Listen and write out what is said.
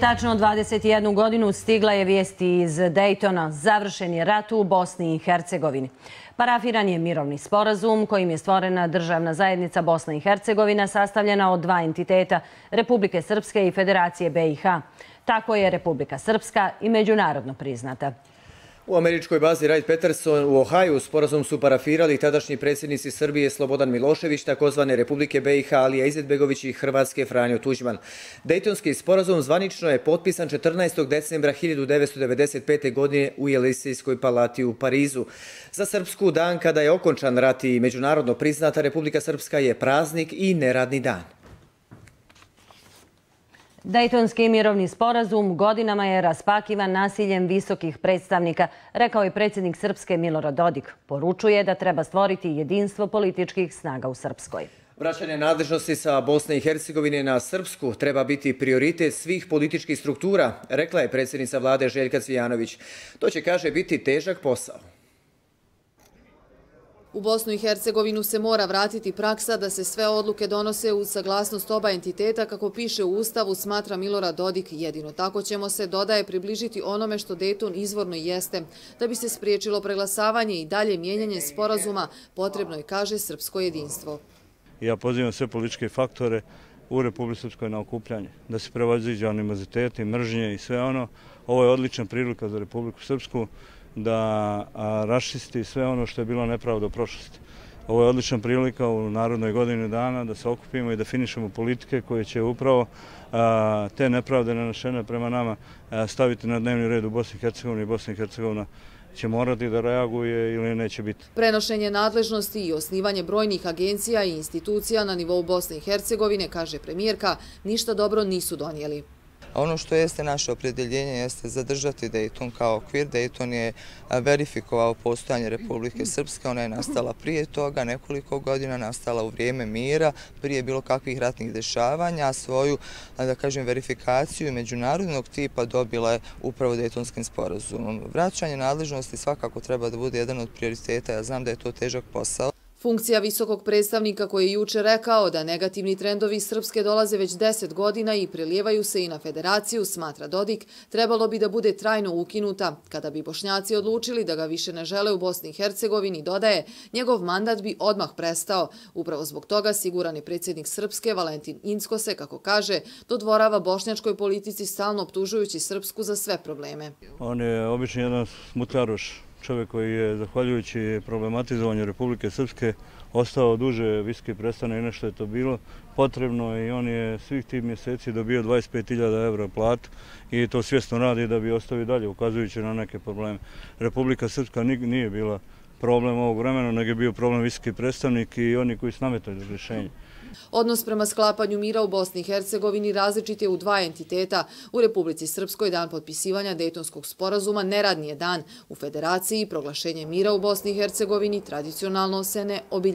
Tačno 21 godinu stigla je vijest iz Dejtona. Završen je rat u Bosni i Hercegovini. Parafiran je mirovni sporazum kojim je stvorena državna zajednica Bosna i Hercegovina sastavljena od dva entiteta, Republike Srpske i Federacije BiH. Tako je Republika Srpska i međunarodno priznata. U američkoj bazi Wright-Patterson u Ohaju sporazum su parafirali tadašnji predsjednici Srbije Slobodan Milošević, takozvane Republike BiH Alija Izetbegović i Hrvatske Franjo Tuđman. Dejtonski sporazum zvanično je potpisan 14. decembra 1995. godine u Elizejskoj palati u Parizu. Za Srpsku dan kada je okončan rat i međunarodno priznata Republika Srpska je praznik i neradni dan. Dejtonski mirovni sporazum godinama je raspakivan nasiljem visokih predstavnika, rekao je predsjednik Srpske Milorad Dodik. Poručuje da treba stvoriti jedinstvo političkih snaga u Srpskoj. Vraćanje nadležnosti sa Bosne i Hercegovine na Srpsku treba biti prioritet svih političkih struktura, rekla je predsjednica vlade Željka Cvijanović. To će, kaže, biti težak posao. U Bosnu i Hercegovinu se mora vratiti praksa da se sve odluke donose uz saglasnost oba entiteta, kako piše u Ustavu, smatra Milorad Dodik. Jedino tako ćemo se, dodaje, približiti onome što Dejton izvorno jeste. Da bi se spriječilo preglasavanje i dalje mijenjanje sporazuma, potrebno je, kaže, srpsko jedinstvo. Ja pozivam sve političke faktore u Republici Srpskoj na okupljanje, da se prevaziđe animoziteti, mržnje i sve ono. Ovo je odlična prilika za Republiku Srpsku da raščisti sve ono što je bilo nepravda u prošlosti. Ovo je odlična prilika u Narodnoj godini dana da se okupimo i definišemo politike koje će upravo te nepravde nanešene prema nama staviti na dnevni red u Bosni i Hercegovini i Bosna i Hercegovina će morati da reaguje ili neće biti. Prenošenje nadležnosti i osnivanje brojnih agencija i institucija na nivou Bosne i Hercegovine, kaže premijerka, ništa dobro nisu donijeli. Ono što jeste naše opredjeljenje jeste zadržati Dejton kao okvir. Dejton je verifikovao postojanje Republike Srpske, ona je nastala prije toga, nekoliko godina, nastala u vrijeme mira, prije bilo kakvih ratnih dešavanja, a svoju, da kažem, verifikaciju međunarodnog tipa dobila je upravo Dejtonskim sporazumom. Vraćanje nadležnosti svakako treba da bude jedan od prioriteta, ja znam da je to težak posao. Funkcija visokog predstavnika koji je juče rekao da negativni trendovi Srpske dolaze već 10 godina i prelijevaju se i na federaciju, smatra Dodik, trebalo bi da bude trajno ukinuta. Kada bi Bošnjaci odlučili da ga više ne žele u Bosni i Hercegovini, dodaje, njegov mandat bi odmah prestao. Upravo zbog toga, siguran je predsjednik Srpske Valentin Incko se, kako kaže, dodvorava bošnjačkoj politici, stalno optužujući Srpsku za sve probleme. On je obično jedan smutljaroš, čovjek koji je, zahvaljujući problematizovanju Republike Srpske, ostao duže viski predstavnik, nešto je to bilo potrebno i on je svih tih mjeseci dobio 25.000 € platu i to svjesno radi da bi ostavio dalje, ukazujući na neke probleme. Republika Srpska nije bila problem ovog vremena, nego je bio problem visoki predstavnik i oni koji su nametali rješenje. Odnos prema sklapanju mira u Bosni i Hercegovini različit je u dva entiteta. U Republici Srpskoj dan potpisivanja Dejtonskog sporazuma neradni je dan. U Federaciji proglašenje mira u Bosni i Hercegovini tradicionalno se ne obilježava.